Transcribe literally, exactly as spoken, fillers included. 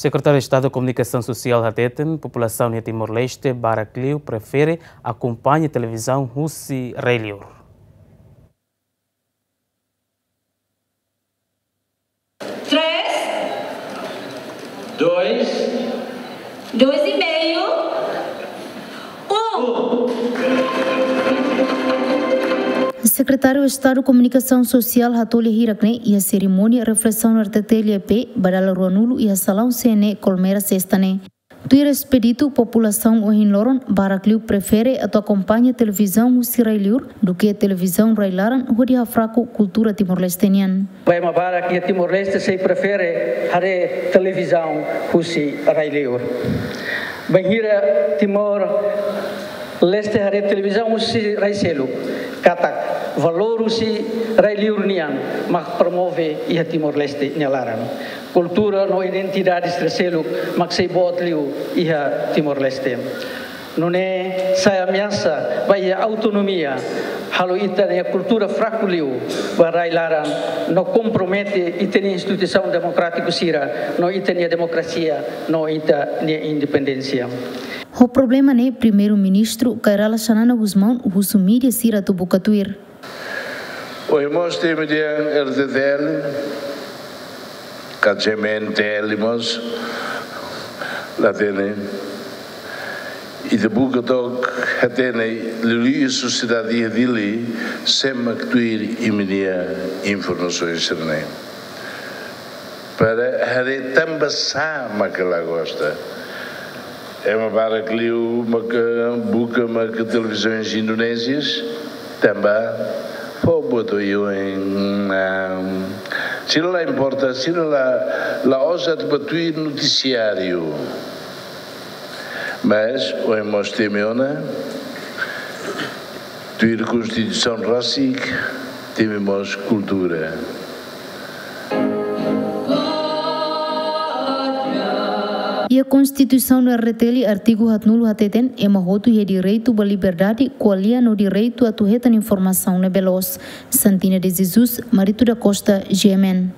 Sekretáriu Estadu Komunikasaun Sosiál hateten, populasaun iha Timor-Leste barak liu prefere akompaña televizaun husi rai-liur. Três. Dois. Dois e meio. Um. Sekretáriu Estadu Komunikasaun Sosiál hato'o lia hirak-ne'e iha serimónia reflesaun R T T L P ba dala ruanulu iha salaun C N E Colmera sesta ne'e. Tuir Expedito, populasaun ohin loron barak liu prefere atu akompaña televizaun husi rai-liur duké televizaun rai-laran hodi hafraku kultura Timor-Leste nian. Ba ema barak iha Timor-Leste sei prefere haree televizaun husi rai-liur. Bainhira Timor-Leste haree televizaun husi rai seluk, katak valór husi rai-liur nian mak promove iha Timor-Leste nia laran. Kultura no identidade sira seluk mak sei boot liu iha Timor-Leste. Nune'e sai ameasa ba iha autonomia, halo ita-nia kultura fraku liu ba rai-laran no kompromete ita-nia instituisaun demokrátiku sira no ita-nia demokrasia no ita-nia independénsia. Ho problema ne'e, Primeiru-Ministru Kay Rala Xanana Gusmão husu mídia sira atu buka tuir. Ohin mós temi dehan R T T L, ka G M N T L mós la hatene. Ita buka took hatene, liuliu sosiedade iha Dili, sé mak tuir imi-nia informasaun sira-ne'e. Para haree tanba sá maka la gosta. Ema barak liu maka buka maka televizaun Indonézia, tanba fó buat oioin, ah, sira la importa, sira la, la ousada ba tuir notisiáriu. Mas, ohin mós temi ona, tuir Konstituisaun rasik, temi mós kultura. Iha Konstituisaun R T L artigu haatnulu hateten, ema hotu iha direitu ba liberdade, ko'alia no direitu atu hetan informasaun ne'ebé loos. Santina de Jesus, Marito da Costa, G M N.